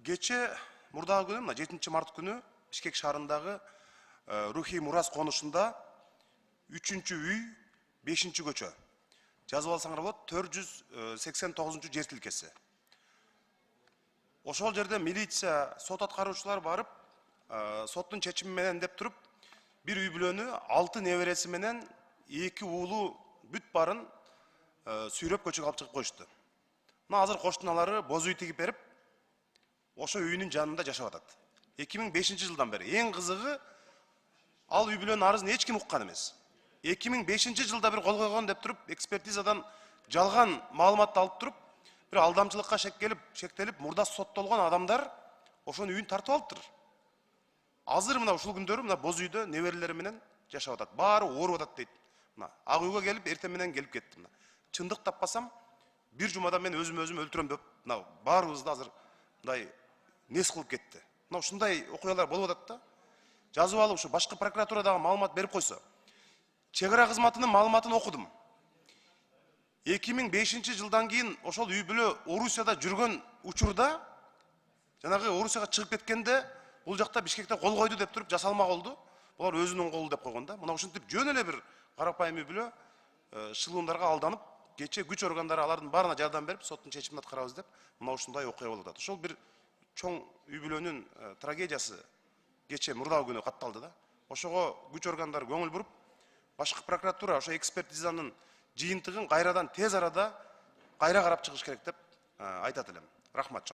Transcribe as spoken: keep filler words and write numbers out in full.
Кече мурдагы күнү, мына жетинчи март күнү Бишкек шаарындагы Рухий Мурас конушунда үчүнчү үй, бешинчи көчө. Жазып алсаңар болот, төрт жүз сексен тогузунчу жер тилкеси. Ошол жерде милиция, сот аткаруучулар барып, соттун чечими менен деп туруп, бир үй бүлөнү алты небереси менен эки уулу бүт барын сүйрөп көчөгө алып чыгып коюшту. Мына азыр коштуналары боз үй тигип берип, ошо үйүнүн жанында жашап атат. эки миң бешинчи жылдан бери. Эң кызыгы, ал үй бүлөнүн арызын эч ким уккан эмес. эки миң бешинчи жылда бир кол койгон деп туруп, экспертизадан жалган маалыматты алып туруп, бир алдамчылыкка шектелип, шектелип, мурда соттолгон адамдар ошонун үйүн тартып алыптыр. Азыр мына ушул күндөрү мына боз үйдө неберелери менен жашап атат. Баары ооруп атат дейт. Мына ак үйгө келип, эртең менен келип кетти. Мына чындык таппасам, бир жумада мен өзүм өзүм өлтүрөм деп, мына баарыбызды азыр мындай нес кылып кетти. Мына ушундай окуялар болуп атат да. Жазып алып, ушу башкы прокуратурадагы маалымат берип койсо. Чек ара кызматынын маалыматын окудум. эки миң бешинчи жылдан кийин ошол үй бүлө Орусияда жүргөн учурда, жанагы Орусияга чыгып кеткенде, бул жакта Бишкекте кол койду деп туруп жасалма колду. Булар өзүнүн колу деп койгон да. Мына ушинтип жөн эле бир карапайым үй бүлө шылуундарга алданып, кече күч органдары алардын баарына жардам берип, соттун чечимин аткарабыз деп, мына ушундай окуя болуп атат. Ошол бир чоң үй бүлөнүн трагедиясы кече мурдагы күнү катталды да. Ошого күч органдары көңүл буруп, башкы прокуратура ошо экспертизанын жыйынтыгын кайрадан тез арада кайра карап чыгыш керек деп айтат элем. Рахмат.